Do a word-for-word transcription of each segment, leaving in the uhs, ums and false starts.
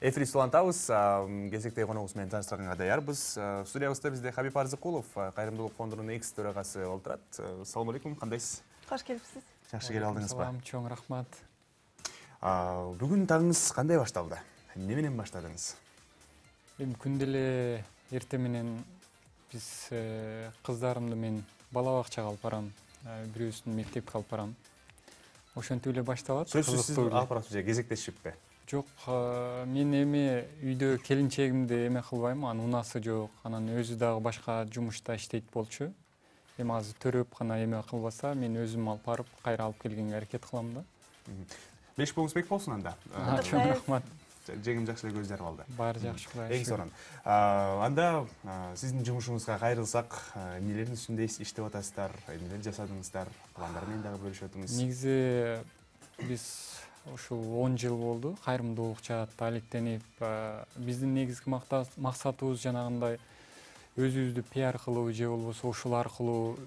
Эфирибизди улантабыз. Кезектеги коногубуз менен тааныштырганга даярбыз. Студиябызда бизде Хабиб Арзыкулов, Кайрымдуулук фондунун экс төрагасы отурат. Салам алейкум, кандайсыз? Кош келипсиз. Жакшы келип алдыңызбы? Салам, чоң рахмат. Бүгүн таңыңыз кандай башталды? Эмне менен баштадыңыз? Эми күндө эле эртең менен биз кыздарымды мен бала бакчага алып барам, бирөөсүн мектепке алып барам. Ошентип эле башталат. Сөзсүз сиз алып барасыз же кезектешиппи? Жок, мен эми үйдө келинчегимди эме кылбайм, анын унасы жок, анан өзү дагы башка жумушта иштейт болчу. Эми азыр төрөп гана эме кылбаса, мен өзүм алып барып, кайра алып келгенге аракет кылам да. Беш болуңуз бек болсун анда. Чоң рахмат. Жеңим жакшы эле көздөр алды. Баары жакшы, Кудайга шүгүр. Эң сонун. Анда сиздин жумушуңузга кайрылсак, эмнелердин үстүндө иштеп атасыздар, эмнелер жасадыңыздар, пландар менен дагы бөлүшүп өтүңүз. Негизи биз ушул он жыл болду кайрымдуулук жаатта алектенип, биздин негизги максатыбыз жанагындай өзүбүздү пиар кылуу же болбосо ушул аркылуу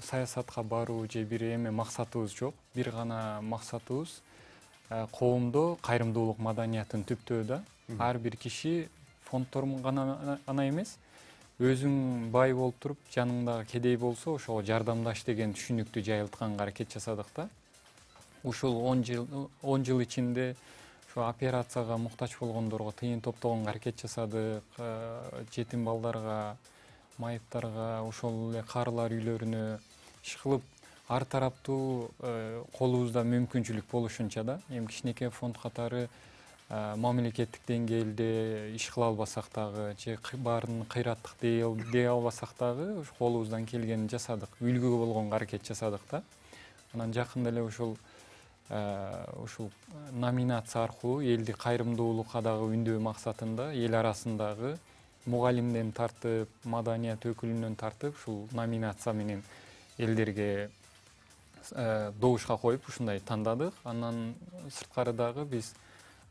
саясатка баруу же бир эме максатыбыз жок. Бир гана максатыбыз коомдо кайрымдуулук маданиятын түптөө да. Ар бир киши фондторун гана эмес, өзүң бай болуп туруп, жаныңдагы кедей болсо, ошого жардамдаш деген түшүнүктү жайылтканга аракет жасадык да. Ушул он жыл ичинде ушу операцияга муктач болгондорго тыйын топтогонго аракет жасадык, жетим балдарга, майыптарга, ошол эле карылар үйлөрүнө иш кылып, ар тараптуу колубузда мүмкүнчүлүк болушунча да. Эми кичинекей фонд катары мамлекеттик деңгээлде иш кыла албасак дагы, же баарын кыйраттык дей албасак дагы, колубуздан келгенин жасадык, үлгү болгонго аракет жасадык да. Анан жакында эле ушул ушул номинация аркылуу элди кайрымдуулукка дагы үндөө максатында эл арасындагы мугалимден тартып, маданият өкүлүнөн тартып, ушул номинация менен элдерге добушка коюп ушундай тандадык. Андан сырткары дагы биз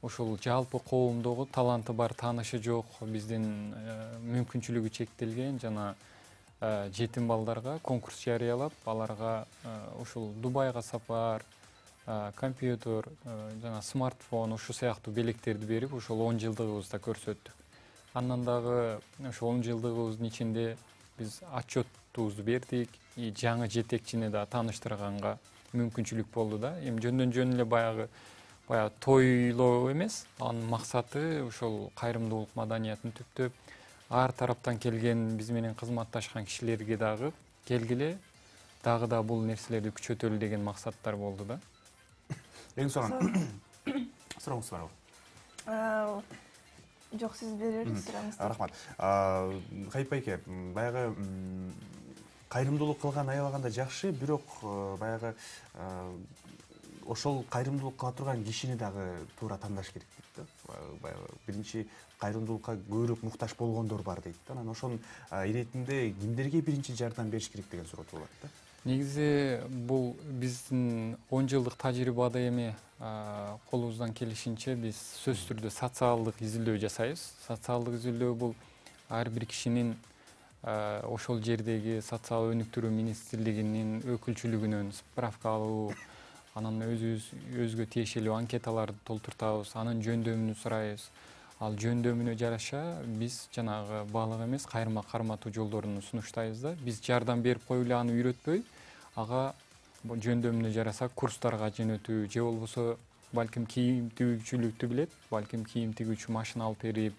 ушул жалпы коомдогу таланты бар, таанышы жок, биздин мүмкүнчүлүгү чектелген жана жетим балдарга конкурс жарыялап, аларга ушул Дубайга сапар, компьютер, жана смартфон, ушу сыяктуу белектерди берип, ушул он жылдыгыбызда көрсөттүк. Андан дагы ошол он жылдыгыбыздын ичинде биз отчетубузду бердик, жаңы жетекчини да тааныштырганга мүмкүнчүлүк болду да. Эми жөндөн жөн эле баягы баягы тойлоо эмес, анын максаты ушул кайрымдуулук маданиятын түптөп, ар тараптан келген биз менен кызматташкан кишилерге дагы келгиле, дагы да бул нерселерди күчөтөлү деген максаттар болду да. Эң сонун. Сурооңуз барбы? Жок, сиз бере бериңиз сурооңузду. Рахмат. Хабиб байке, баягы кайрымдуулук кылган аябаганда жакшы, бирок баягы ошол кайрымдуулук кыла турган кишини дагы туура тандаш керек дейт да. Баягы биринчи кайрымдуулукка көбүрөөк муктаж болгондор бар дейт да. Анан ошонун иретинде кимдерге биринчи жардам бериш керек деген суроо туулат да. Негизи бул биздин он жылдык тажрыйбада эми колубуздан келишинче биз сөзсүз түрдө социалдык изилдөө жасайбыз. Социалдык изилдөө бул ар бир кишинин ошол жердеги социал өнүктүрүү министрлигинин өкүлчүлүгүнөн справка алуу, анан өзүбүз өзгө тиешелүү анкеталарды толтуртабыз, анын жөндөмүн сурайбыз. Ал жөндөмүнө жараша биз жанагы баалык эмес, кайрма карматуу жолдорун сунуштайбыз да. Биз жардам берип коюп эле аны үйрөтпөй, ага жөндөмүнө жараса курстарга жөнөтүү же болбосо балким кийим тигүүчүлүктү билет, балким кийим тигүүчү машина алып берип,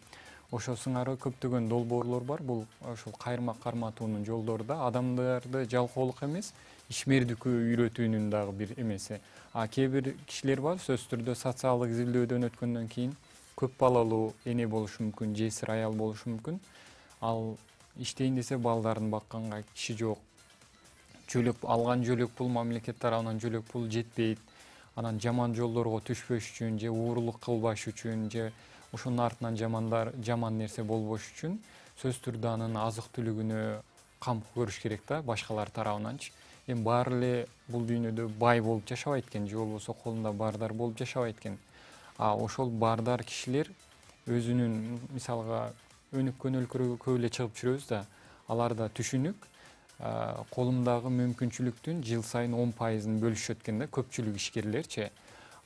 ошо сыңары көптөгөн долбоорлор бар. Бул ошол кайрма карматуунун жолдору да, адамдарды жалкоолук эмес, ишмердиккө үйрөтүүнүн дагы бир эмеси. А кээ бир кишилер бар, сөзсүз түрдө социалдык изилдөөдөн өткөндөн кийин көп балалуу эне болушу мүмкүн, жесир аял болушу мүмкүн. Ал иштейин десе балдарын бакканга киши жок. Жөлөк алган жөлөк пул, мамлекет тарабынан жөлөк пул жетпейт. Анан жаман жолдорго түшпөш үчүн же уурулук кылбаш үчүн же ошонун артынан жамандар жаман нерсе болбош үчүн сөзсүз түрдө анын азык түлүгүнө кам көрүш керек да, башкалар тарабынанчы. Эми баары эле бул дүйнөдө бай болуп жашабайт экен, же болбосо колунда бардар болуп жашабайт экен. А ошол бардар кишилер өзүнүн мисалга өнүккөн өлкөлөргө көп эле чыгып жүрөбүз да, алар да түшүнүк, колумдагы мүмкүнчүлүктүн жыл сайын он пайызын бөлүшөт экен да, көпчүлүк ишкерлерчи.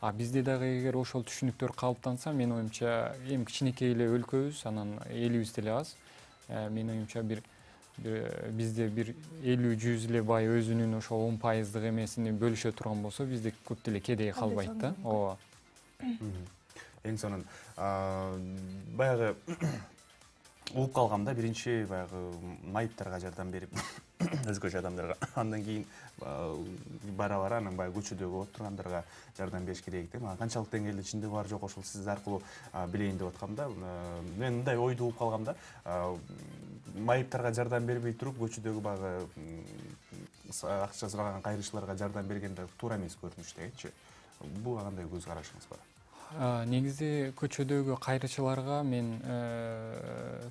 А бизде дагы эгер ошол түшүнүктөр калыптанса, менин оюмча эми кичинекей эле өлкөбүз, анан элибиз деле аз. Менин оюмча бир бизде бир элүү жүз эле бай өзүнүн ошол он пайыздык эмесин бөлүшө турган болсо, бизде көп деле кедей калбайт да. Ооба. Эң сонун баягы угуп калгамда, биринчи баягы майыптарга жардам берип, өзгөчө адамдарга, андан кийин бара-бара анан баягы көчөдөгү отургандарга жардам бериш керек деп. Канчалык деңгээлде чындыгы бар жок, ошол сиз аркылуу билейин деп аткам да. Мен мындай ойду угуп калгам да. Майыптарга жардам бербей туруп, көчөдөгү баягы акча сураган кайрылыштарга жардам берген да туура эмес көрүнүш дегенчи. Буга кандай көз карашыңыз бар? Негизи көчөдөгү кайрычыларга мен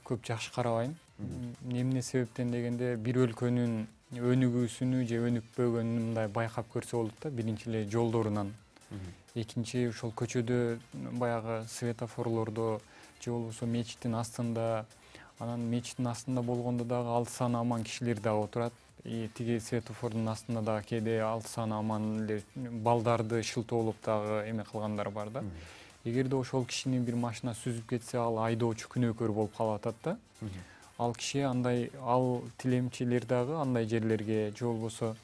көп жакшы карабайм. Эмне себептен дегенде, бир өлкөнүн өнүгүүсүнү же өнүкпөгөнүн мындай байкап көрсө болот да. Биринчи эле жолдорунан. Экинчи, ошол көчөдө баягы светофорлордо же болбосо мечиттин астында, анан мечиттин астында болгондо дагы алты саны аман кишилер дагы отурат. Тиги светофордун астында дагы кээде алты саны аман эле балдарды шылтоолоп дагы эме кылгандар бар да. Эгерде ошол кишини бир машина сүзүп кетсе, ал айдоочу күнөөкөр болуп калып атат да. Ал киши андай, ал тилемчилер дагы андай жерлерге же болбосо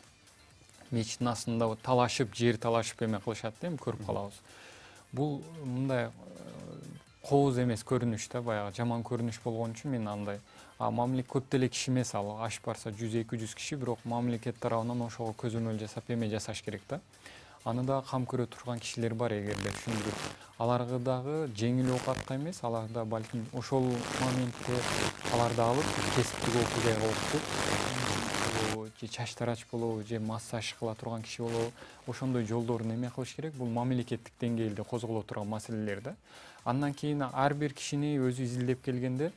мечиттин астында талашып, жер талашып эме кылышат да, эми көрүп калабыз. Бул мындай кооз эмес көрүнүш да, баягы жаман көрүнүш болгон үчүн мен андай. А мамлекет көп деле киши эмес, ал ашып барса жүз эки жүз киши, бирок мамлекет тарабынан ошого көзөмөл жасап эме жасаш керек да. Аны да кам көрө турган кишилер бар, эгерде түшүндүрүп. Аларга дагы жеңил оокатка эмес, алар да балким ошол моментте аларды алып кесиптик окуяга окутуп, же чач тарач болобу, же массаж кыла турган киши болобу, ошондой жолдорун эме кылыш керек. Бул мамлекеттик деңгээлде козголо турган маселелер да. Андан кийин ар бир кишини өзү изилдеп келгенде,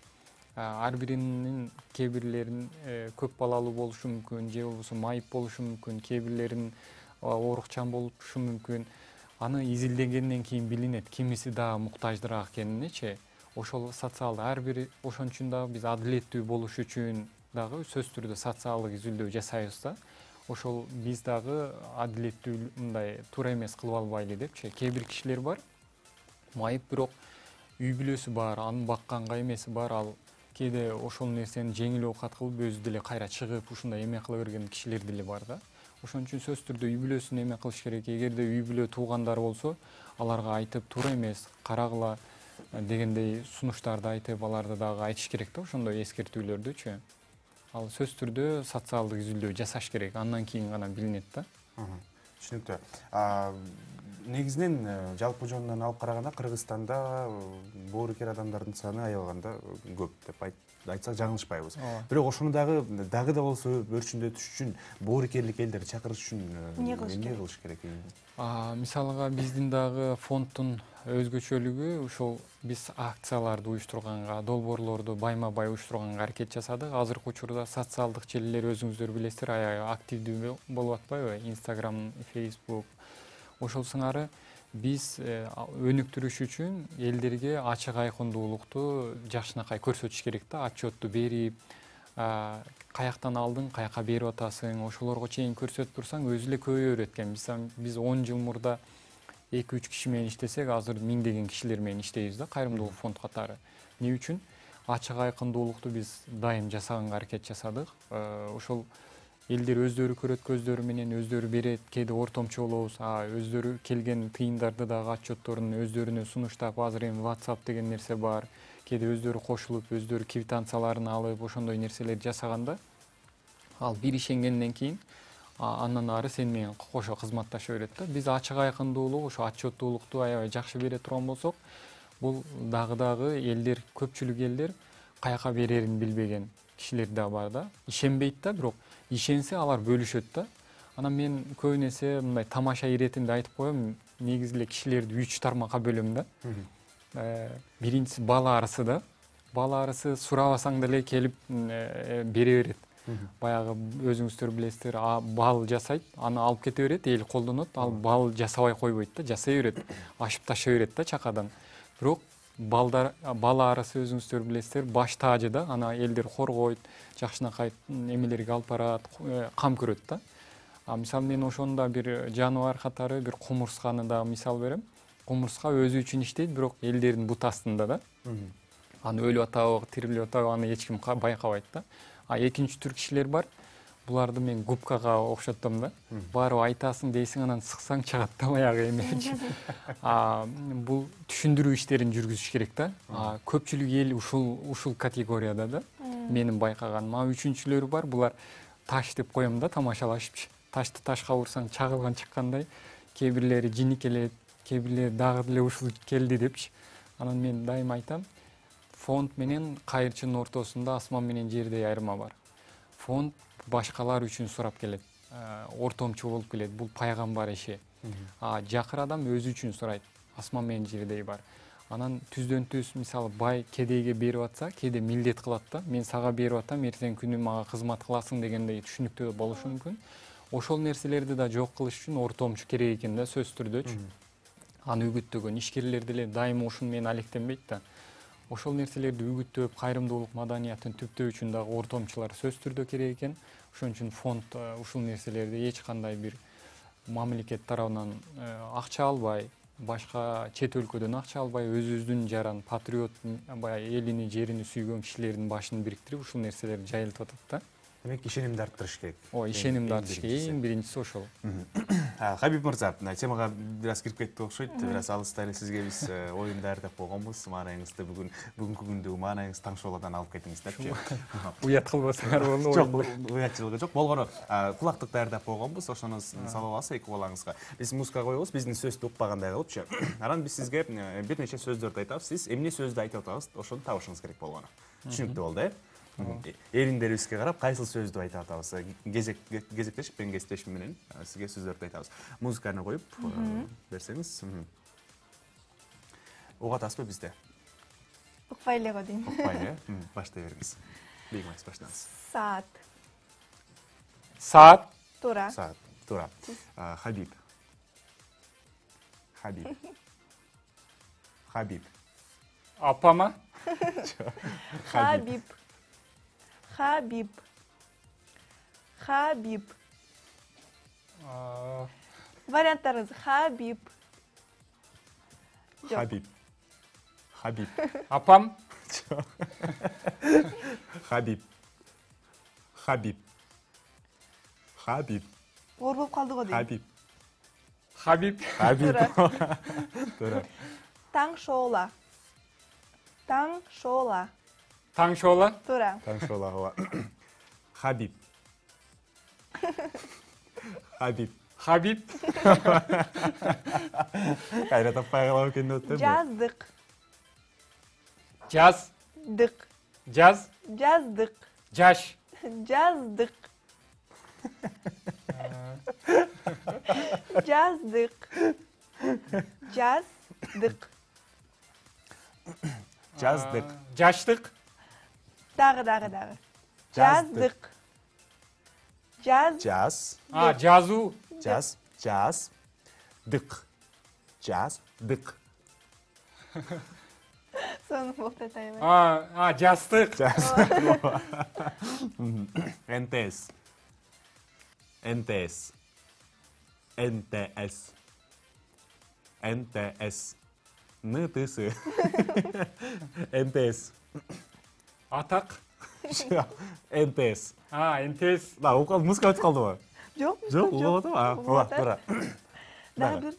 ар биринин кээ бирлерин көп балалуу болушу мүмкүн, же болбосо майып болушу мүмкүн, кээ бирлерин оорукчан болушу мүмкүн. Аны изилдегенден кийин билинет, кимиси дагы муктаждыраак экениничи. Ошол социалдык ар бир, ошон үчүн дагы биз адилеттүү болуш үчүн дагы сөзсүз түрдө социалдык изилдөө жасайбыз да. Ошол биз дагы адилеттүү мындай туура эмес кылып албайлы депчи. Кээ бир кишилер бар, майып, бирок үй бүлөсү бар, анын бакканга эмеси бар, ал кээде ошол нерсени жеңил оокат кылып өзү деле кайра чыгып ушундай эме кыла берген кишилер деле бар да. Ошон үчүн сөзсүз түрдө үй бүлөсүн эме кылыш керек. Эгерде үй бүлө туугандар болсо, аларга айтып туура эмес, карагыла дегендей сунуштарды айтып, аларды дагы айтыш керек да, ошондой эскертүүлөрдүчү. Ал сөзсүз түрдө социалдык изилдөө жасаш керек, андан кийин гана билинет да. Түшүнүктүү. Негизинен жалпы жөнүнөн алып караганда Кыргызстанда боорукер адамдардын саны аябаганда көп деп айтсак жаңылышпайбыз. Бирок ошону дагы дагы да болсо өрчүндөтүш үчүн боорукерлик элдерди чакырыш үчүн эмне кылыш керек? Мисалга биздин дагы фонддун өзгөчөлүгү ушул биз акцияларды уюштурганга, долбоорлорду байма-бай уюштурганга аракет жасадык. Азыркы учурда социалдык желилер өзүңүздөр билесиздер, аябай активдүү болуп атпайбы? Instagram, Facebook. Ошол сыңары биз өнүктүрүш үчүн элдерге ачык айкындуулукту жакшынакай көрсөтүш керек да, отчетту берип, каяктан алдың, каяка берип атасың, ошолорго чейин көрсөтүп турсаң өзү эле көбөйө берет экен. Биз он жыл мурда эки үч киши менен иштесек, азыр миңдеген кишилер менен иштейбиз да, кайрымдуулук фонд катары. Эмне үчүн? Ачык айкындуулукту биз дайым жасаганга аракет жасадык. Ошол элдер өздөрү көрөт, көздөрү менен өздөрү берет, кээде ортомчу болобуз, өздөрү келген тыйындарды дагы отчетторун өздөрүнө сунуштап, азыр эми WhatsApp деген нерсе бар, кээде өздөрү кошулуп, өздөрү квитанцияларын алып, ошондой нерселерди жасаганда, ал бир ишенгенден кийин андан ары сени менен кошо кызматташа берет да. Биз ачык айкындуулук, ошо отчеттуулукту аябай жакшы бере турган болсок, бул дагы-дагы элдер, көпчүлүк элдер каяка берерин билбеген кишилер да бар да. Ишенбейт да, бирок ишенсе алар бөлүшөт да. Анан мен көбүнесе мындай тамаша иретинде айтып коем, негизи эле кишилерди үч тармакка бөлөм да. Биринчиси бала арысы да. Бала арысы сурабасаң деле келип бере берет. Баягы өзүңүздөр билесиздер, бал жасайт, аны алып кете берет, эл колдонот, ал бал жасабай койбойт да, жасай берет, ашып таша берет да чакадан. Бирок балдар, бала арасы өзүңүздөр билесиздер, баш таажы да, аны элдер коргойт, жакшынакай эмелерге алып барат, кам көрөт да. А мисалы мен ошондо бир жаныбар катары бир кумурсканы да мисал берем. Кумурска өзү үчүн иштейт, бирок элдердин бут астында да. Аны өлүп атабы, тирилип атабы, аны эч ким байкабайт да. А экинчи түр кишилер бар. Буларды мен губкага окшоттом да. Барып айтасың дейсиң, анан сыксаң чыгат да аягы эмечи. А бул түшүндүрүү иштерин жүргүзүш керек да. А көпчүлүк эл ушул ушул категорияда да. Менин байкаганым. А үчүнчүлөрү бар, булар таш деп коем да, тамашалашыпчы. Ташты ташка урсаң чагылган чыккандай, кээ бирлери жини келет, кээ бирлери дагы деле ушул келди депчи. Анан мен дайыма айтам, фонд менен кайырчынын ортосунда асман менен жердей айырма бар. Фонд башкалар үчүн сурап келет, ортомчу болуп келет. Бул пайгамбар иши. А жакыр адам өзү үчүн сурайт. Асман менен жердей бар. Анан түздөн түз мисалы бай кедейге берип атса, кээде милдет кылат да. Мен сага берип атам, эртең күнү мага кызмат кыласың дегендей түшүнүктүү болушу мүмкүн. Ошол нерселерди да жок кылыш үчүн ортомчу керек экен да, сөзсүз түрдөчү. Аны үгүттөгөн ишкерлер деле дайыма ушуну менен алектенбейт да. Ошол нерселерди үгүттөп, кайрымдуулук маданиятын түптөө үчүн дагы ортомчулар сөзсүз түрдө керек экен. Ошон үчүн фонд ушул нерселерди эч кандай бир мамлекет тарабынан акча албай, башка чет өлкөдөн акча албай, өзүбүздүн жаран патриот, баягы элини, жерини сүйгөн кишилердин башын бириктирип, ушул нерселерди жайылтып атат да. Демек ишенимди арттырыш керек. Ой, ишенимди арттырыш керек. Эң биринчиси ошол. Хабиб мырза, темага бир аз кирип кеттик окшойт. Бир аз алыста эле сизге биз оюн даярдап койгонбуз. Маанайыңызды бүгүн бүгүнкү күндөгү маанайыңыз таң шоудан алып кетиңиздерчи. Уят кылбасаңар болду. Жок, уятчылыгы жок. Болгону кулактык даярдап койгонбуз. Ошону салып аласыз эки кулагыңызга. Биз музыка коебуз, биздин сөздү укпагандай кылыпчы. Анан биз сизге бир нече сөздөрдү айтабыз. Сиз эмне сөздү айтып атабыз, ошону табышыңыз керек болгону. Түшүнүктүү болду, э? Эриндерибизге карап кайсыл сөздү айтып атабыз. Кезек кезектешип мен кесиптешим менен сизге сөздөрдү айтабыз. Музыканы коюп берсеңиз. Угуп атасызбы бизде? Укпай эле го дейм. Укпай эле. Баштай бериңиз. Бийик баштаңыз. Саат. Саат. Туура. Саат. Туура. Хабиб. Хабиб. Хабиб. Апама? Хабиб. Хабиб. Хабиб. Варианттарыңыз Хабиб. Хабиб. Хабиб. Апам? Хабиб. Хабиб. Хабиб. Оор болуп калды го дейм. Хабиб. Хабиб. Хабиб. Туура. Таң шоола. Таң шоола. Таң шоола. Туура. Таң шоола. Хабиб. Хабиб. Хабиб. Кайра таппай калып экен деп атпаймынбы? Жаздык. Жаз. Дык. Жаз. Жаздык. Жаш. Жаздык. Жаздык. Жаздык. Жаздык. Жаштык. Дагы, дагы, дагы. Жаздык. Жаз. Жаз. А, жазуу. Жаз. Жаз. Дык. Жаз. Дык. Сону болуп атайбы. А, а, жастык. Жаз. НТС. НТС. НТС. НТС. НТС. НТС. Атак. НТС. А, НТС. Да, укал музыка өтүп калдыбы? Жок. Жок, угуп атабы? А, ооба, туура. Дагы бир.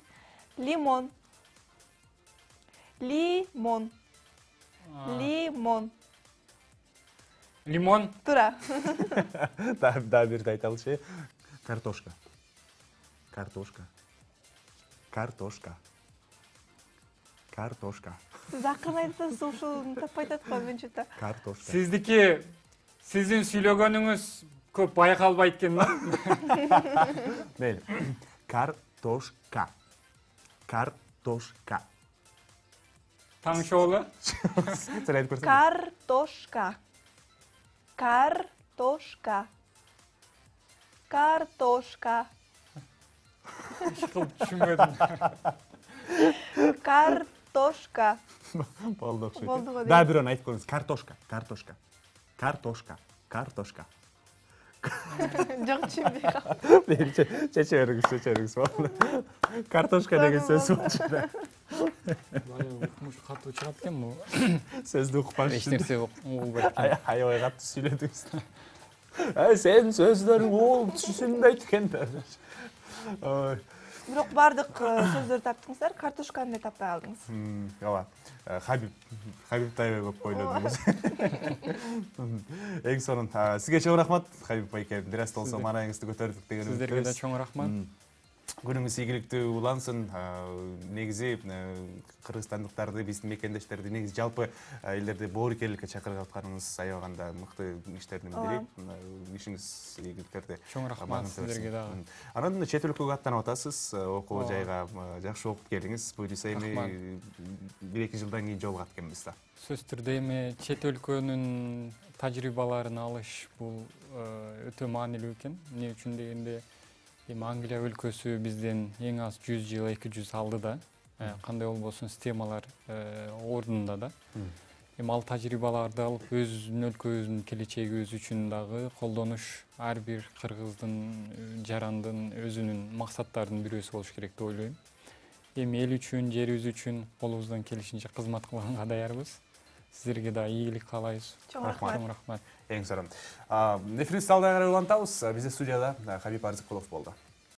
Лимон. Лимон. Лимон. Лимон. Туура. Дагы дагы бирди айталычы. Картошка. Картошка. Картошка. Картошка. Сиз акырын айтсаңыз ушуну таппай атат го менчүта. Картошка. Сиздики сиздин сүйлөгөнүңүз көп байкалбайт экен да? Мейли. Картошка. Картошка. Таң шоола. Сен айтып көрсөң. Картошка. Картошка. Картошка. Ишкылып түшүнбөдүм. Картошка. Болду окшойт. Болду го дейм. Да, бирөөнү айтып көрүңүз. Картошка. Картошка. Картошка. Картошка. Жок, түшүнбөй калдым. Чече бериңиз, чече бериңиз. Картошка деген сөз болчу да. Баягы укмуш катуу чыгат экен бул. Сөздү укпаш Эч үчүн. нерсе угулбайт экен. Аябай катуу сүйлөдүңүз. Ай, сен сөздөрүң ол түшүнбөйт экен да. Ой. Бирок бардык сөздөрдү таптыңыздар, картошканы да таппай калдыңыз. Ооба. Хабиб, Хабиб аябай көп ойлодуңуз. Эң сонун сизге чоң рахмат, Хабиб байке. Бир аз болсо маанайыңызды көтөрдүк деген үмүттөбүз. Сиздерге да чоң рахмат. Күнүңүз ийгиликтүү улансын. Негизи кыргызстандыктарды, биздин мекендештерди негизи жалпы элдерди боорукерликке чакырып атканыңыз аябаганда мыкты иштердин бири. Ишиңиз ийгиликтерди. Чоң рахмат сиздерге дагы. Анан чет өлкөгө аттанып атасыз, окуу жайга жакшы окуп келиңиз. Буюрса эми бир эки жылдан кийин жолугат экенбиз да. Сөзсүз түрдө эми чет өлкөнүн тажрыйбаларын алыш бул өтө маанилүү экен. Эмне үчүн дегенде эми Англия өлкөсү бизден эң аз жүз жыл, эки жүз алдыда. Кандай болбосун системалар ордунда да. Эми ал тажрыйбаларды алып өзүбүздүн өлкөбүздүн келечегибиз үчүн дагы колдонуш ар бир кыргыздын, жарандын өзүнүн максаттарынын бирөөсү болуш керек деп ойлойм. Эми эл үчүн, жерибиз үчүн колубуздан келишинче кызмат кылганга даярбыз. Сиздерге да ийгилик каалайбыз. Чоң рахмат. Чоң рахмат. Эң сонун. Эфирибизди алда карай улантабыз. Бизде студияда Хабиб Арзыкулов болду.